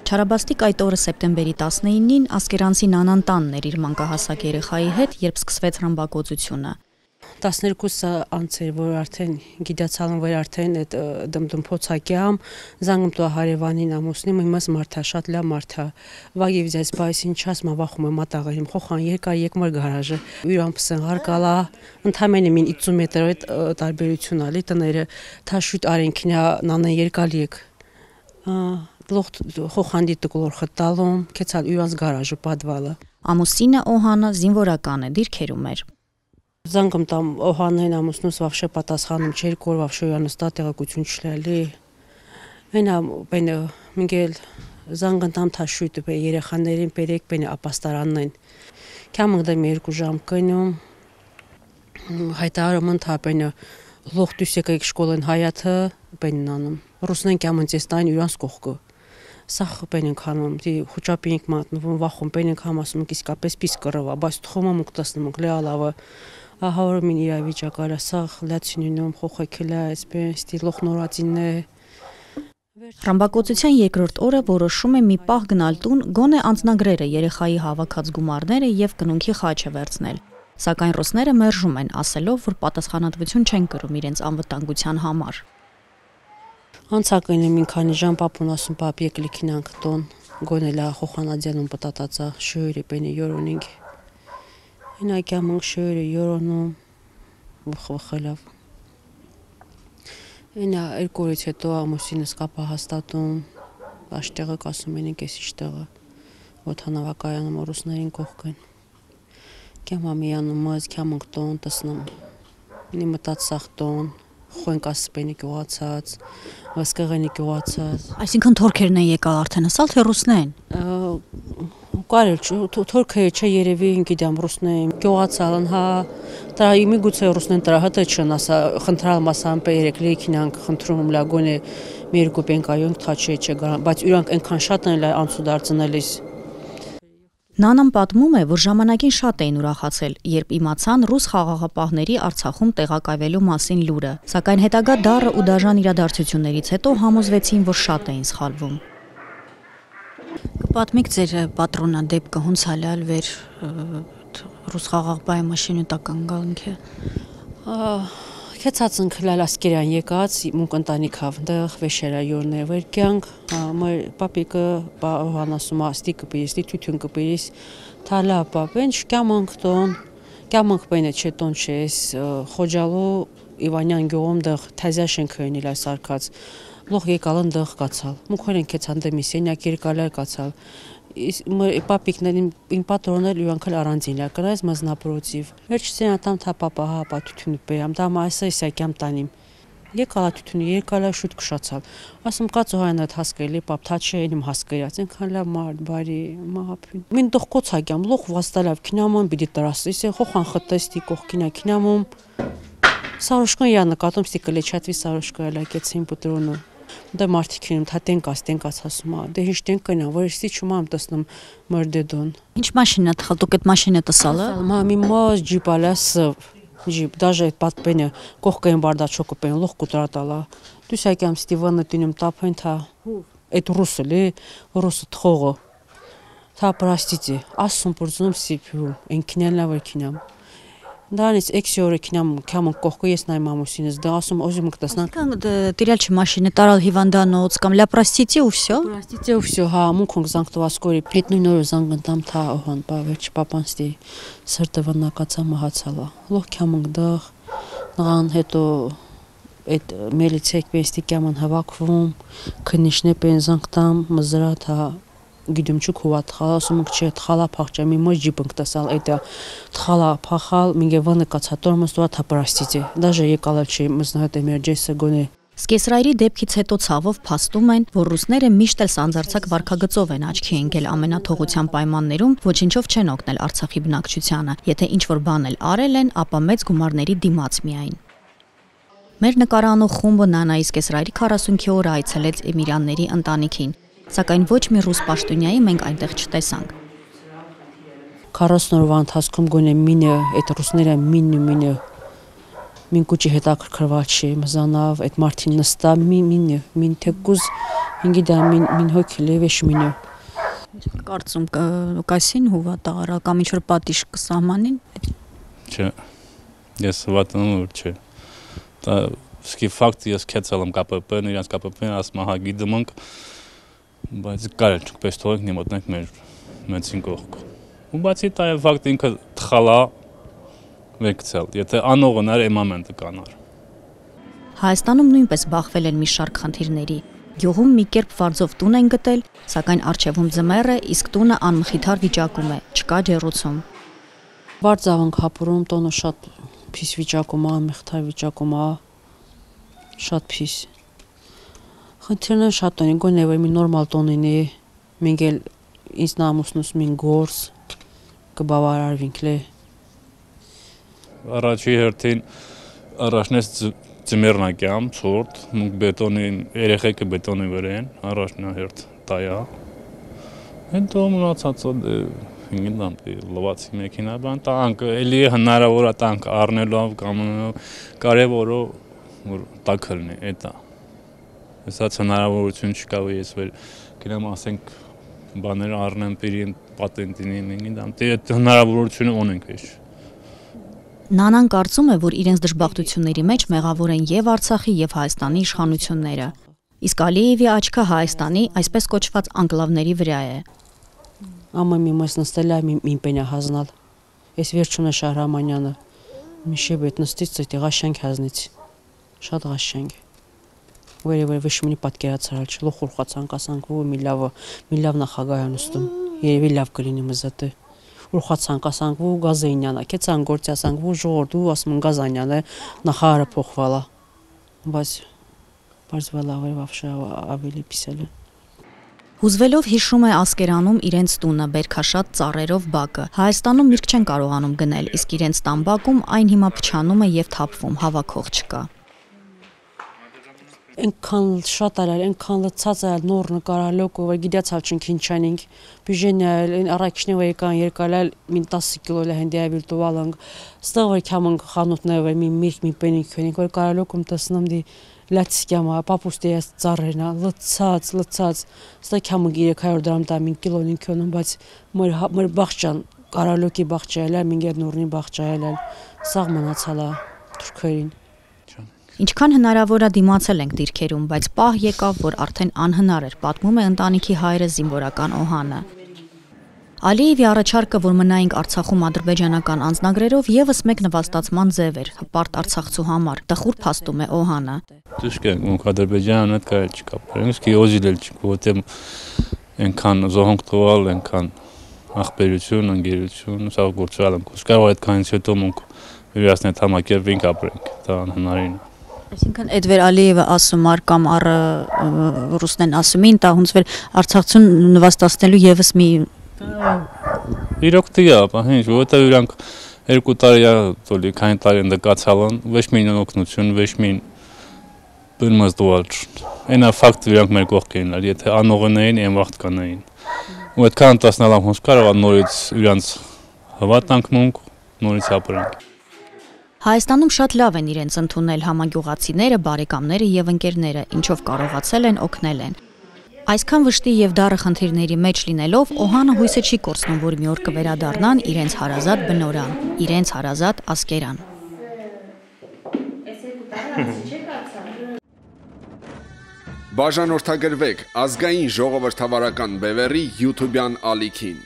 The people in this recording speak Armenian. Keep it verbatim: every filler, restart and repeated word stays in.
Չարաբաստիկ այդ օրը սեպտեմբերի տասնինին Ասկերանցի Նանան տանն էր իր մանկահասակ երեխայի հետ, երբ սկսվեց ռմբակոծությունը։ տասներկուսը անց էր, որ արդեն գիտացալն որ արդեն այդ դմդմփոցակյամ զանգում տո հարևանին ամուսնի միմաս մարդա շատ լավ մարդա վագի վիզես բայսին չասմա վախում եմ մատաղերիմ խոխան երկար եկմր գարաժը յուրանպսն հարկալա ընդամենը մին ութ մետր այդ տարբերություն ալի տները թաշուտ արենքինա նանան երկալի եք լոխ խոխանդի տկլոր խտալում կեցալ յուրանց գարաժը падվալը Ամուսինը Օհանը զինվորական է, դիրքերում էր։ Զանգում տամ Օհանեն ամուսնուս վավշե պատասխանում չէր կոր վավշե յանստա տեղեկություն չլալի այնա բենը մինգել զանգն տամ թաշույթը բե երեխաներին բերեք բենը ապաստարանն են կամգդեմ երկու ժամ կնում հայտարարում ընդհանրապես լոխ դուսեկը շկոլեն հայաթը բենն անում ռուսնեն կամընցեստային յուրանց կողքը Սախ բենին քանում դի խոճապինք մատնվում վախում բենին քամ ասում իսկապես պիս կռվա բայց թխոմը մուկտասնում գլալավը ահավոր մին իրավիճակալը սախ լացինինում խոխեքելա այսպես ստի լոխ նորածինն է Ռմբակոծության երկրորդ օրը որոշում է մի պահ գնալ տուն գոնե անձնագրերը երեխայի հավաքած գումարները եւ կնունքի խաչը վերցնել Սակայն ռուսները մերժում են ասելով որ պատասխանատվություն չեն կրում իրենց անվտանգության համար Անցակին եմ ինքանի ժամ պապուն ասում պապ եկ լիքինանք տոն գոնելա խոխանադյանում պտատածա շույրի բենի յորոնինգ Ինակյամ ընք շույրի յորոնում վխվխելավ Ինա երկորից հետո ամուսինս կապա հաստատում աշտեղը կասում են ինք ես իշտեղը ոթանավակայանում ռուսներին կողքեն Կյամ ամիանում մազ կյամ ընք տոն տսնում Նի մտած սախ տոն Խոյնք ասպենի գյուղացած, վասկեղենի գյուղացած Այսինքն թորքերն են եկալ արդեն ասալ, թե ռուսնեն Կարել, թորքերը չէ երևի ինգիդամ ռուսնեն Գյուղացալն, հա Տրա իմի գուցե ռուսնեն տրա հտը չն ասա Խնդրալ մասան պերեք լեքինանք խնդրում լագոն է մի երկու պենկայոնք թա չէ չէ Բայց իրանք ենքան շատ են անցուդարձնելիս Նանան պատմում է, որ ժամանակին շատ էին ուրախացել, երբ իմացան ռուս խաղաղապահների Արցախում տեղակայվելու մասին լուրը, սակայն հետագա դառը ու դաժան իրադարձություններից հետո համոզվեցին, որ շատ էին սխալվում։ Կպատմեք ձեր պատրոնա դեպքը հունց հալալ վեր ռուս խաղաղապահի մաշինը տական գալնքը։ Քեցածն քլալ ասկերան եկած մունք ընտանիքավ դեղ վեշերա յորներ վերքյանք մայր պապիկը բանասում աստի կպիրիստի թյություն կպիրիս թալա պապեն շկամանք տոն կամանք բենը չետոն չես խոջալու Իվանյան գյուղում դեղ թազաշեն քյոյնել այս արկած լոխ եկալն դեղ կացալ մուքորեն քեցան դեմիս ենյակ երկալար կացալ Պապիկներին ին պատրոնել յուրանքալ առանձին լակրայզ մազնապրոցիվ Վերջ սենատամ թա պապա հա պա թյությունը բերամ դամ այսա իսակյամ տանիմ Եկալա թյությունը երկալա շուտ կշացալ Ասում կացու հայն այդ հասկելի պապ թա չէ ենիմ հասկերած ենքան լավ մարդ բարի մահապյուն Մին դող կոցակյամ լոխ վաստալավ կինամոն բիդի տրասը իսեն խոխան խտեստի կողքինա կինամոմ Սարոշկան յա նկատում ստի կլեչատվի սարոշկա լակեցին պտրոնը Դե մարդիկինում թա տենկաս տենկաս ասումա դե հիշ տենկնա որ ստի չումամ տեսնում մրդեդոն Ինչ մաշինա տխալ դուք այդ մաշինը տսալը Մամի մոզ ջիպալա սվ ջիպ դաժե այդ պատպենը կողքեն բարդաչոկը պեն լոխ կուտրատալա դուսակյամ ստիվանը տինում տափեն թա այդ ռուսը լի ռուսը թողը թա պրաստիցի ասում պրծնում սիփյու ենքինելնա վրքինամ Դանից էքսի օրը կինամ կամն կողքը ես նայմ ամուսինս դա ասում օզի մկտասնանք Տիրալ չմաշինը տարալ հիվանդանոց կամ լա պրաստիցի ու վсё Պրաստիցի ու վсё հա մունքոնք զանգտվասկորի հետ նույն օրը զանգնտամ թա օհան բա վերջ պապանստի սրտը վնակացա մահացալա լոխ կամն դեղ նղան հետո այդ մելիցեք պենստի կամն հավաքվում քնիշնե պեն զանգտամ մզրա թա Գիտում չուք հուատ խալասում չէ թխալա փախճա մի մոջ ջիպնք տասալ այդ թխալա փախալ մինգե վանը կացատոր մստուա թապրաստիցի դաժե եկալա չի մզնահատ էմերջեսը գոնե Սկեսրայրի դեպքից հետո ցավով փաստում են, որ ռուսները միշտ էլ սանձարցակ վարքագծով են աչքի ընկել ամենաթողության պայմաններում, ոչինչով չեն օգնել Արցախի բնակչությանը, եթե ինչ-որ բան էլ արել են, ապա մեծ գումարների դիմաց միայն։ Մեր նկարանող խումբը Նանայի Սկեսրայրի քառասունքի օրը այցելեց Էմիրյանների ընտանիքին, սակայն ոչ մի ռուս պաշտոնյայի մենք այնտեղ չտեսանք։ քառասուն օրվա ընթացքում գոնե մինը այդ ռուսները մինը մինը մին կուճի հետաքրքրված չի մզանավ այդ մարտին նստա մի մինը մին թեկուզ ինգիդա մին մին հոգիլի վեշմինը Կարծում կասին հուվա տաղարա կամ ինչ-որ պատիժ կսահմանին։ Չէ, ես հավատանում որ չէ։ Դա սկի ֆակտ ես քեցել եմ ԿՊՊ-ն, իրանց ԿՊՊ-ն ասում ահա գիտեմ ենք, բայց կարել չկպես թողենք նիմոտնենք մեր մեծին կողք։ Ու բացի դա ֆակտ ինքը թխալա վեկցել, եթե անողնար էմամենտը կանար։ Հայաստանում նույնպես բախվել են մի շարք խնդիրների։ Գյուղում մի կերպ վարձով տուն են գտել, սակայն առջևում ձմեռ է, իսկ տունը անմխիթար վիճակում է, չկա ջեռուցում։ Բարձավ ենք հապուրում, տոնը շատ փիս վիճակում է, անմխիթար վիճակում է, շատ փիս։ Խնդիրն է շատ ունի, գոնե որ մի նորմալ տոնին է, մենք էլ ինձ նամուսնուս մին գործ կբավարարվինք լե։ Առաջի հերթին առաջնես Ձմեռնակյամ, ցորտ, մենք բետոնի երեխեքը բետոնի վրա են, առաջնահերթ տայա։ Հետո մնացածը ինգիդամ լվացի մեքենա բան, տանք էլի հնարավոր է տանք առնելով կամ կարևորը որ տակ լինի, էտա։ Հեսած հնարավորություն չկա որ ես վեր գնամ ասենք բաներ առնեմ պերին պատենտին ինգիդամ, դե հնարավորությունը ունենք էս։ Նանան կարծում է, որ իրենց դժբախտությունների մեջ մեղավոր են եւ Արցախի եւ Հայաստանի իշխանությունները։ Իսկ Ալիևի աչքը Հայաստանի այսպես կոչված անկլավների վրա է։ Ամը մի մաս նստել է մի պենյա հազնալ։ Ես վերջում է Շահրամանյանը։ Միշե բետ նստից ծետի ղաշենք հազնից։ Շատ ղաշենք։ Վերևեր վշմինի պատկերացրալ չլոխ ուրխացանք ասանք ու մի լավ մի լավ նախագահան ուստում։ Երևի լավ կլինի մզատը։ Ուրխացանք ասանք ու Գազանյանը, քեցան գործի ասանք ու ժողովուրդ ու ասում են Գազանյանը նախարարը փոխվալա։ Բայց բարձվալա վավշա ավելի պիսել է։ Հուզվելով հիշում է Ասկերանում իրենց տունը բերքաշատ ծառերով բակը։ Հայաստանում միրգ չեն կարողանում գնել, իսկ իրենց տան բակում այն հիմա փչանում է եւ թափվում, հավաքող չկա։ Այնքան շատ արալ, այնքան լցած արալ նոր նկարալոք, որ գիտացալ չինքինչանինք, բյուժենյալ, այն առաքիչներ որ եկան երկալալ մին տասը կիլո լահնդիա վիրտուալանք, ստեղ որ քամանք խանութներ որ մի միրգ մի պենիկ քնիկ որ կարալոքում տեսնամ դի լացիկյամա, պապուստի ես ծառերնա, լցած, լցած, ստեղ քամանք երեք հարյուր դրամ տա մին կիլոնին քոնում, բայց մեր մեր բախճան կարալոքի բախճայել, մինգեր նորնի բախճայել, սաղ մնացալա թուրքերին։ Ինչքան հնարավոր է դիմացել ենք դիրքերում, բայց պահ եկավ, որ արդեն անհնար էր, պատմում է ընտանիքի հայրը զինվորական Օհանը։ Ալիևի առաջարկը, որ մնայինք Արցախում ադրբեջանական անձնագրերով, եւս մեկ նվաստացման ձև էր, հպարտ արցախցու համար, տխուր փաստում է Օհանը։ Դժկա մենք Ադրբեջանը հետ կարել չկա, իսկ իոզիլ էլ չկա, որտեղ այնքան զոհոնք տվալ, այնքան ախպերություն, ընկերություն, սա գործալ ենք, կարող այդքանից հետո մենք վերացնել համակերպենք ապրենք, դա անհնարին է։ Այսինքն Էդվեր Ալիևը ասում ար կամ առ ռուսնեն ասումին, դա հունց վեր արցախցուն նվաստացնելու եւս մի իրոք դիա, բահինչ, որտեղ իրանք երկու տարի է, տոլի քանի տարի ընդկացալ են, ոչ մի օգնություն, ոչ մի բնմազդուալ։ Այնա ֆակտ իրանք մեր կողքին են, եթե անողնային, այն վաղտ կանային։ Ու այդքան տասնալամ հոնց կարող նորից իրանք հավատանք մունք, նորից ապրենք։ Հայաստանում շատ լավ են իրենց ընդունել համագյուղացիները, բարեկամները եւ ընկերները, ինչով կարողացել են օգնել են։ Այսքան վշտի եւ դառը խնդիրների մեջ լինելով, Օհանը հույսը չի կորցնում, որ մի օր կվերադառնան իրենց հարազատ բնորան, իրենց հարազատ Ասկերան։ Բաժանորդագրվեք ազգային ժողովրդավարական բևեռի YouTube-յան ալիքին։